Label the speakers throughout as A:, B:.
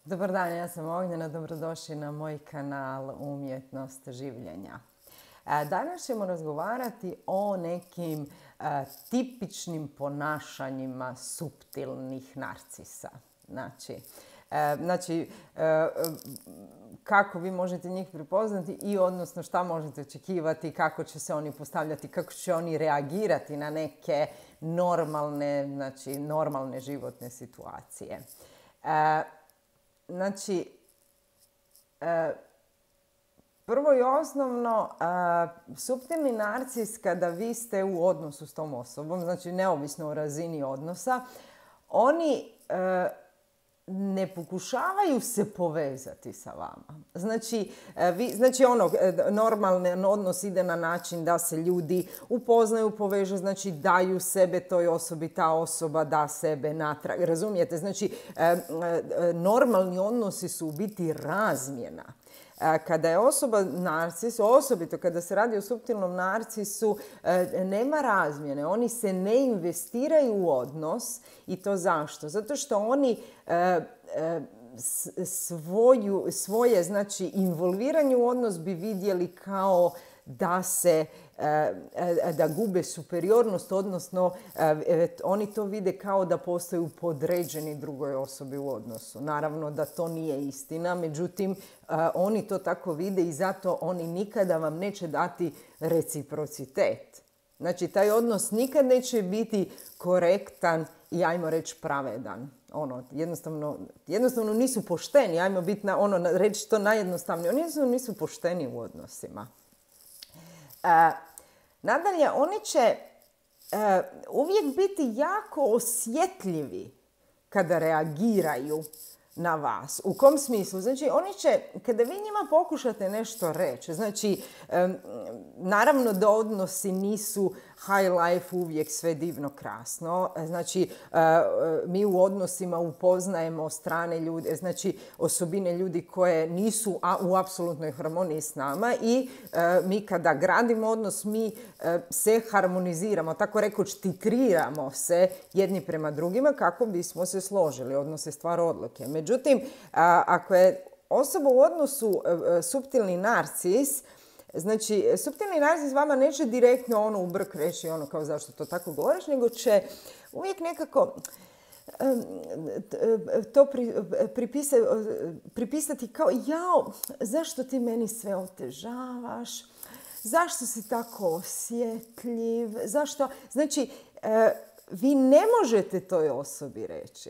A: Dobar dan, ja sam Ognjena, dobrodošli na moj kanal Umjetnost življenja. Danas ćemo razgovarati o nekim tipičnim ponašanjima suptilnih narcisa. Znači, kako vi možete njih prepoznati i odnosno šta možete očekivati, kako će se oni postavljati, kako će oni reagirati na neke normalne životne situacije. Prvo i osnovno, suptilni narcis kada vi ste u odnosu s tom osobom, znači neovisno o razini odnosa, oni ne pokušavaju se povezati sa vama. Normalni odnos ide na način da se ljudi upoznaju, povežu, znači daju sebe toj osobi, ta osoba da sebe natrag. Razumijete? Znači, normalni odnosi su u biti razmjena. Kada je osoba narcis, osobito kada se radi o suptilnom narcisu, nema razmjene. Oni se ne investiraju u odnos. I to zašto? Zato što oni svoje involviranje u odnos bi vidjeli kao da gube superiornost, odnosno oni to vide kao da postaju podređeni drugoj osobi u odnosu. Naravno da to nije istina, međutim oni to tako vide i zato oni nikada vam neće dati reciprocitet. Znači, taj odnos nikad neće biti korektan i, ajmo reći, pravedan. Jednostavno nisu pošteni, ajmo biti reći to najjednostavnije. Oni jednostavno nisu pošteni u odnosima. Nadalje, oni će uvijek biti jako osjetljivi kada reagiraju na vas. U kom smislu? Znači, oni će, kada vi njima pokušate nešto reći, znači, naravno da odnosi nisu high life, uvijek sve divno, krasno. Znači, mi u odnosima upoznajemo strane ljude, znači osobine ljudi koje nisu u apsolutnoj harmoniji s nama i mi kada gradimo odnos, mi se harmoniziramo, tako rekoć titriramo se jedni prema drugima kako bismo se složili. Odnos je stvar odluke. Međutim, ako je osoba u odnosu suptilni narcis, znači, suptilni narcis vama neće direktno u brk reći kao zašto to tako govoriš, nego će uvijek nekako to pripisati kao jao, zašto ti meni sve otežavaš, zašto si tako osjetljiv, zašto... Znači, vi ne možete toj osobi reći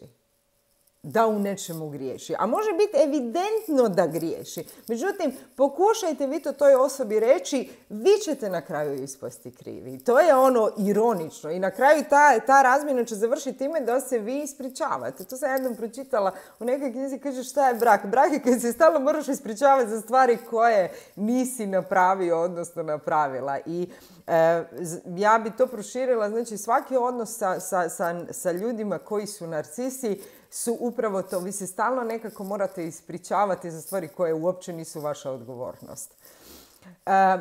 A: da u nečemu griješi. A može biti evidentno da griješi. Međutim, pokušajte vi to toj osobi reći, vi ćete na kraju ispasti krivi. To je ironično. I na kraju ta razmjena će završiti time da se vi ispričavate. To sam jednom pročitala u nekoj knjizi, kaže šta je brak. Brak je kad se stalno moraš ispričavati za stvari koje nisi napravio, odnosno napravila. I ja bi to proširila, znači svaki odnos sa ljudima koji su narcisi su upravo to. Vi se stalno nekako morate ispričavati za stvari koje uopće nisu vaša odgovornost.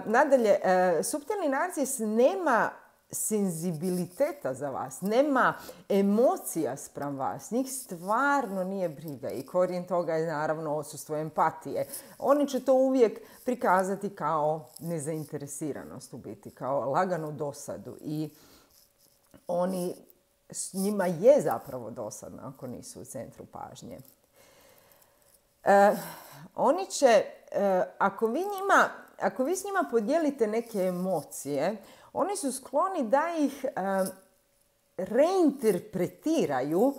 A: Nadalje, suptilni narcis nema senzibiliteta za vas, nema emocija spram vas, njih stvarno nije briga i korijen toga je naravno odsustvo empatije. Oni će to uvijek prikazati kao nezainteresiranost u biti, kao laganu dosadu i njima je zapravo dosadno ako nisu u centru pažnje. Oni će, ako vi s njima podijelite neke emocije, oni su skloni da ih reinterpretiraju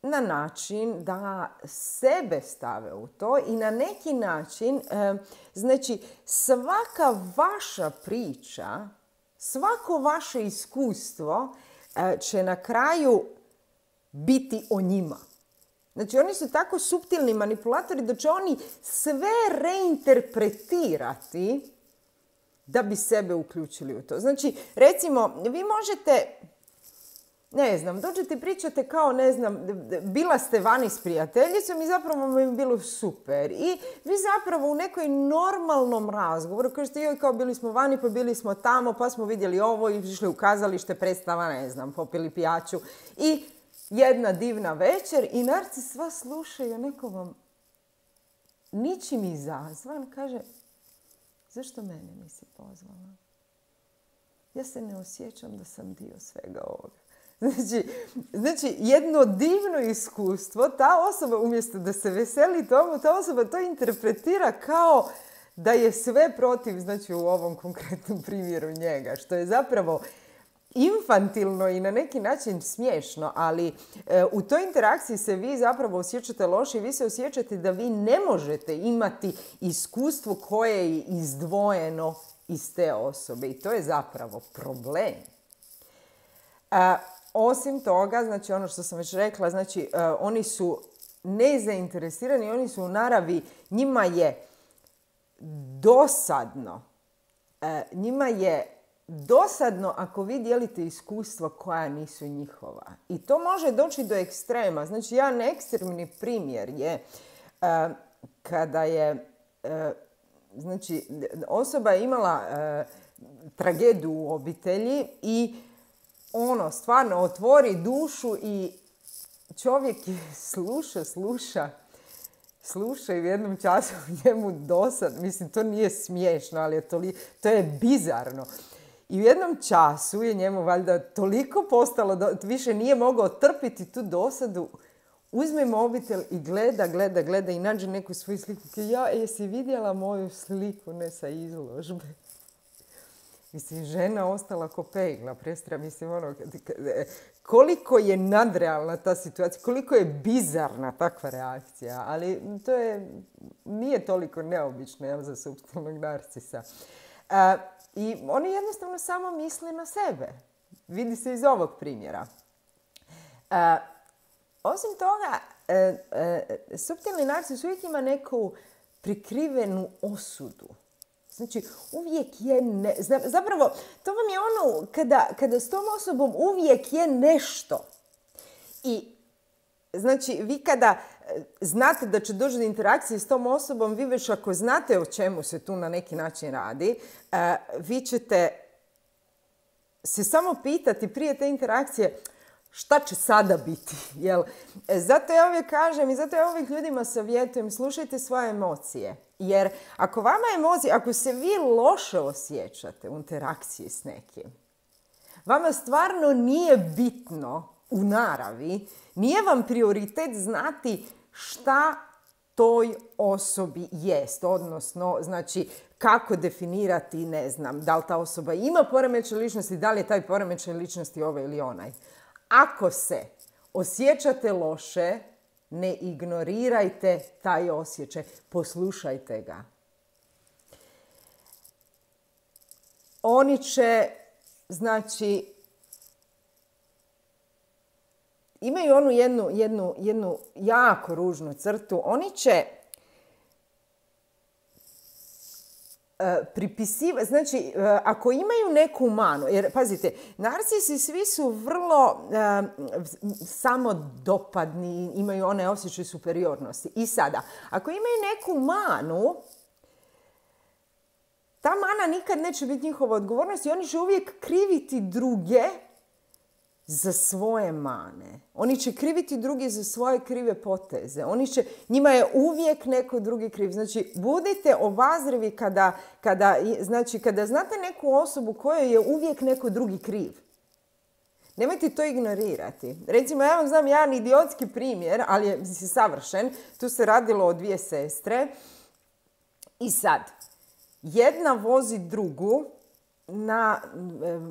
A: na način da sebe stave u to i na neki način, znači svaka vaša priča, svako vaše iskustvo će na kraju biti o njima. Znači, oni su tako suptilni manipulatori da će oni sve reinterpretirati da bi sebe uključili u to. Znači, recimo, vi možete, dođete i pričate kao, bila ste vani s prijateljicom i zapravo mi je bilo super. I vi zapravo u nekoj normalnom razgovoru kažete, joj, kao bili smo vani, pa bili smo tamo, pa smo vidjeli ovo i išli u kazalište, predstava, popili pijaču. I jedna divna večer i narcis sva slušaju, neko vam ničim izazvan kaže, zašto mene nisi pozvala? Ja se ne osjećam da sam dio svega ovoga. Znači, jedno divno iskustvo, ta osoba umjesto da se veseli tomu, ta osoba to interpretira kao da je sve protiv, znači u ovom konkretnom primjeru njega, što je zapravo infantilno i na neki način smiješno, ali u toj interakciji se vi zapravo osjećate loše i vi se osjećate da vi ne možete imati iskustvo koje je izdvojeno iz te osobe i to je zapravo problem. Osim toga, znači ono što sam već rekla, znači oni su nezainteresirani, oni su u naravi, njima je dosadno. Njima je dosadno ako vi dijelite iskustva koja nisu njihova. I to može doći do ekstrema. Znači, jedan ekstremni primjer je kada je znači, osoba je imala tragediju u obitelji i stvarno otvori dušu i čovjek sluša i u jednom času njemu dosad, mislim to nije smiješno, ali to je bizarno. I u jednom času je njemu valjda toliko postalo, više nije mogao trpiti tu dosadu, uzme mobitel i gleda i nađe neku svoju sliku. Jesi vidjela moju sliku, ne sa izložbe? Mislim, žena ostala ko pegla, mislim, koliko je nadrealna ta situacija, koliko je bizarna takva reakcija, ali to nije toliko neobično za suptilnog narcisa. I oni jednostavno samo misle na sebe. Vidi se iz ovog primjera. Osim toga, suptilni narcis uvijek ima neku prikrivenu osudu. Znači, uvijek je zapravo, to vam je kada s tom osobom uvijek je nešto. I, znači, vi kada znate da će doći do interakcije s tom osobom, vi već ako znate o čemu se tu na neki način radi, vi ćete se samo pitati prije te interakcije šta će sada biti. Zato ja uvijek kažem i zato ja uvijek ljudima savjetujem, slušajte svoje emocije. Jer ako se vi loše osjećate u interakciji s nekim, vama stvarno nije bitno u naravi, nije vam prioritet znati šta toj osobi jest, odnosno, znači, kako definirati, ne znam, da li ta osoba ima poremećaj ličnosti, da li je taj poremećaj ličnosti ovaj ili onaj. Ako se osjećate loše, ne ignorirajte taj osjećaj, poslušajte ga. Oni će, znači, imaju onu jednu jako ružnu crtu. Oni će pripisivati, znači, ako imaju neku manu, jer, pazite, narcisi svi su vrlo samodopadni, imaju one osjećaj superiornosti. I sada, ako imaju neku manu, ta mana nikad neće biti njihova odgovornost i oni će uvijek kriviti druge za svoje mane. Oni će kriviti drugi za svoje krive poteze. Njima je uvijek neko drugi kriv. Znači, budite obazrivi kada znate neku osobu kojoj je uvijek neko drugi kriv. Nemojte to ignorirati. Recimo, ja vam znam jedan idiotski primjer, ali je savršen. Tu se radilo o dvije sestre. I sad, jedna vozi drugu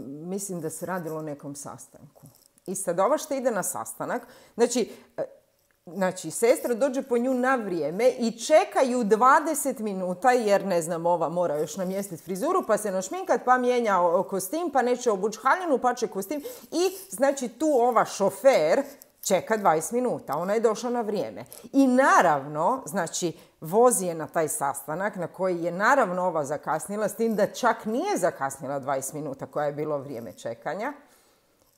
A: mislim da se radilo o nekom sastanku. I sad ova što ide na sastanak, znači sestra dođe po nju na vrijeme i čekaju 20 minuta jer, ne znam, ova mora još namjestiti frizuru, pa se našminkat, pa mijenja kostim, pa neće obući haljinu, pa će kostim. I, znači, tu ova šofer čeka 20 minuta. Ona je došla na vrijeme. I naravno, znači, vozi je na taj sastanak na koji je naravno ova zakasnila, s tim da čak nije zakasnila 20 minuta koja je bilo vrijeme čekanja.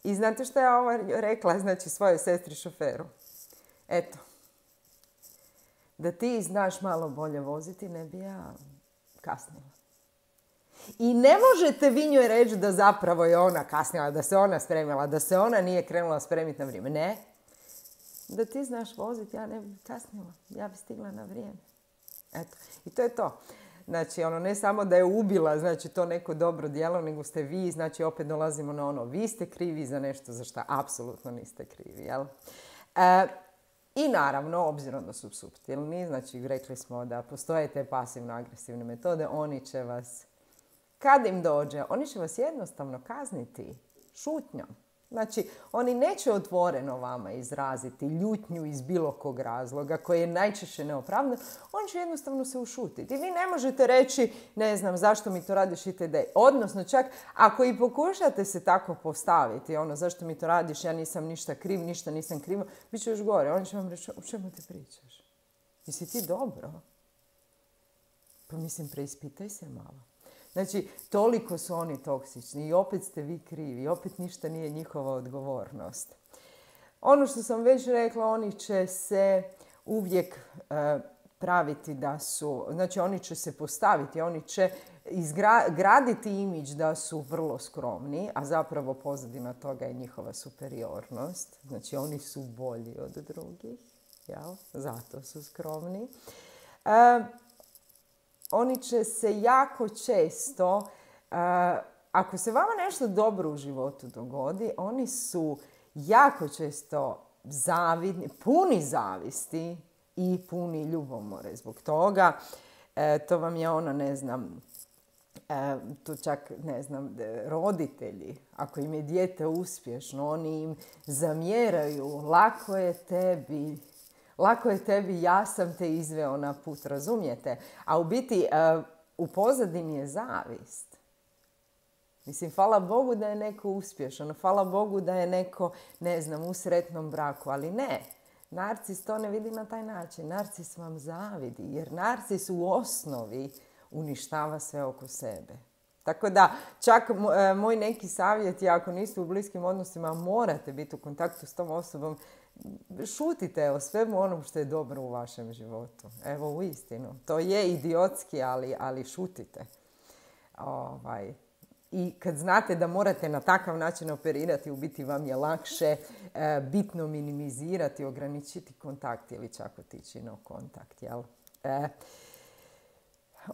A: I znate što je ova rekla, znači, svojoj sestri šoferu? Eto, da ti znaš malo bolje voziti, ne bi ja kasnila. I ne možete vi njoj reći da zapravo je ona kasnila, da se ona spremila, da se ona nije krenula spremiti na vrijeme. Ne. Da ti znaš voziti, ja ne bi kasnila. Ja bi stigla na vrijeme. Eto. I to je to. Znači, ne samo da je ubila, znači, to neko dobro djelo, nego ste vi, znači, opet dolazimo na vi ste krivi za nešto za što apsolutno niste krivi, jel? I naravno, obzirom da su suptilni, znači, rekli smo da postoje te pasivno-agresivne metode, oni će vas, kad im dođe, oni će vas jednostavno kazniti šutnjom. Znači, oni neće otvoreno vama izraziti ljutnju iz bilo kog razloga, koji je najčešće neopravdan, on će jednostavno se ušutiti. Vi ne možete reći, ne znam, zašto mi to radiš itd. Odnosno, čak ako i pokušate se tako postaviti, zašto mi to radiš, ja nisam ništa kriv, ništa nisam kriva, bit će još gore. On će vam reći, o čemu ti pričaš? Jesi ti dobro? Pa mislim, preispitaj se malo. Znači, toliko su oni toksični i opet ste vi krivi, opet ništa nije njihova odgovornost. Ono što sam već rekla, oni će se uvijek praviti da su, znači oni će se postaviti, oni će graditi imidž da su vrlo skromni, a zapravo pozadina toga je njihova superiornost. Znači, oni su bolji od drugih, jel? Zato su skromni. Oni će se jako često, ako se vama nešto dobro u životu dogodi, oni su jako često zavidni, puni zavisti i puni ljubomore zbog toga. To vam je ne znam, to čak, ne znam, roditelji, ako im je dijete uspješno, oni im zamjeraju, lako je tebi, ja sam te izveo na put, razumijete? A u biti, u pozadini je zavist. Mislim, hvala Bogu da je neko uspješan, hvala Bogu da je neko, ne znam, u sretnom braku, ali ne. Narcis to ne vidi na taj način. Narcis vam zavidi, jer narcis u osnovi uništava sve oko sebe. Tako da, čak moj neki savjet je, ako niste u bliskim odnosima, morate biti u kontaktu s tom osobom, šutite o svemu onom što je dobro u vašem životu. Evo, uistinu. To je idiotski, ali šutite. I kad znate da morate na takav način operirati, u biti vam je lakše bitno minimizirati, ograničiti kontakt ili čak otići no kontakt, jel?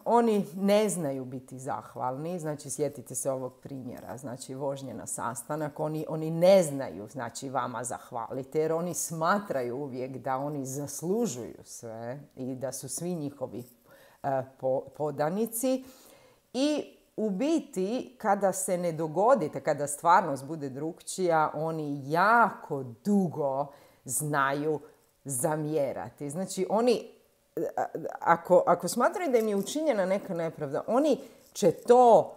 A: Oni ne znaju biti zahvalni, znači sjetite se ovog primjera, znači vožnje na sastanak, oni ne znaju znači vama zahvaliti jer oni smatraju uvijek da oni zaslužuju sve i da su svi njihovi podanici i u biti kada se ne dogodite, kada stvarnost bude drukčija, oni jako dugo znaju zamjerati. Znači oni Ako smatraju da im je učinjena neka nepravda, oni će to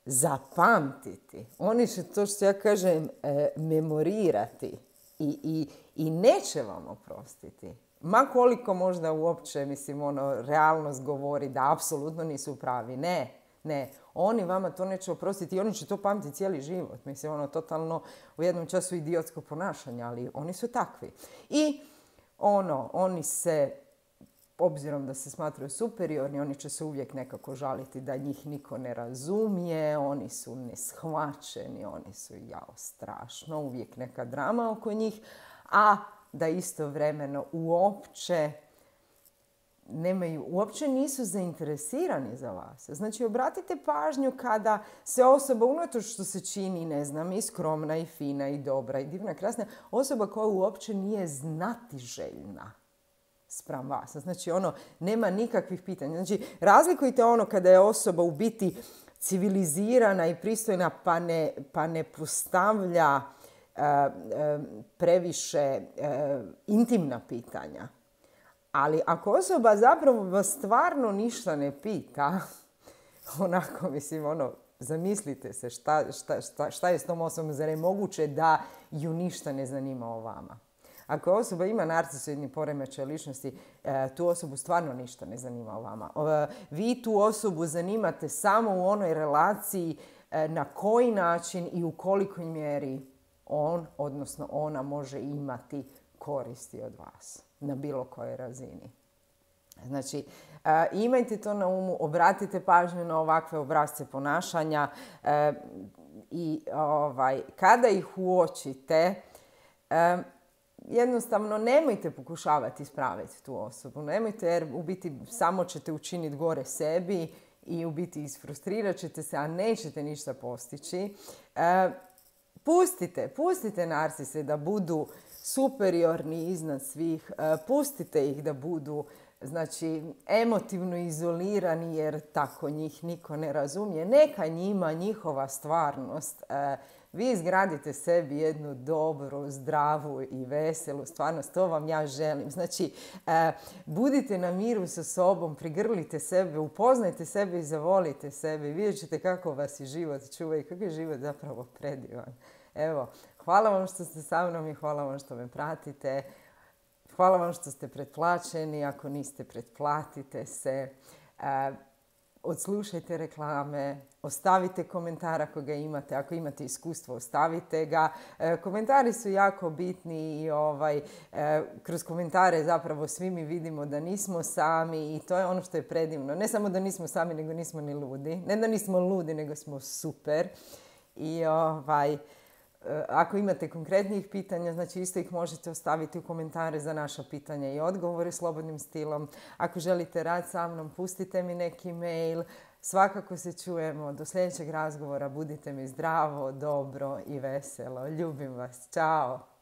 A: zapamtiti. Oni će to, što ja kažem, memorirati i neće vam oprostiti. Ma koliko možda uopće, realnost govori da apsolutno nisu pravi. Ne. Oni vama to neće oprostiti i oni će to pamtiti cijeli život. Totalno u jednom času idiotsko ponašanje, ali oni su takvi. I oni se, obzirom da se smatraju superiorni, oni će se uvijek nekako žaliti da njih niko ne razumije, oni su neshvaćeni, oni su strašno, uvijek neka drama oko njih, a da istovremeno uopće nisu zainteresirani za vas. Znači, obratite pažnju kada se osoba, unatoč što se čini, ne znam, i skromna, i fina, i dobra, i divna, krasna, osoba koja uopće nije znatiželjna spram vas. Znači, nema nikakvih pitanja. Znači, razlikujte kada je osoba u biti civilizirana i pristojna pa ne postavlja previše intimna pitanja. Ali ako osoba zapravo vas stvarno ništa ne pita, zamislite se šta je s tom osobom, zar je moguće da ju ništa ne zanima o vama. Ako osoba ima narcisoidni poremećaj ličnosti, tu osobu stvarno ništa ne zanima o vama. Vi tu osobu zanimate samo u onoj relaciji na koji način i u kolikoj mjeri on, odnosno ona, može imati koristi od vas na bilo kojoj razini. Znači, imajte to na umu, obratite pažnju na ovakve obrasce ponašanja i kada ih uočite, jednostavno nemojte pokušavati ispraviti tu osobu. Nemojte, jer u biti samo ćete učiniti gore sebi i u biti isfrustrirat ćete se, a nećete ništa postići. Pustite narsise da budu superiorni iznad svih. Pustite ih da budu, znači, emotivno izolirani, jer tako njih niko ne razumije. Neka njima njihova stvarnost. Vi izgradite sebi jednu dobru, zdravu i veselu stvarnost. To vam ja želim. Znači, budite na miru sa sobom, prigrlite sebe, upoznajte sebe i zavolite sebe. Vidjet ćete kako vas i život čuva i kako je život zapravo predivan. Evo, hvala vam što ste sa mnom i hvala vam što me pratite. Hvala vam što ste pretplaćeni. Ako niste, pretplatite se. Odslušajte reklame, ostavite komentar ako ga imate, ako imate iskustvo, ostavite ga. Komentari su jako bitni i kroz komentare zapravo svi mi vidimo da nismo sami i to je ono što je predivno. Ne samo da nismo sami, nego nismo ni ludi. Ne da nismo ludi, nego smo super. I ako imate konkretnih pitanja, znači isto ih možete ostaviti u komentare za naša pitanja i odgovore slobodnim stilom. Ako želite rad sa mnom, pustite mi neki mail. Svakako se čujemo. Do sljedećeg razgovora. Budite mi zdravo, dobro i veselo. Ljubim vas. Ćao!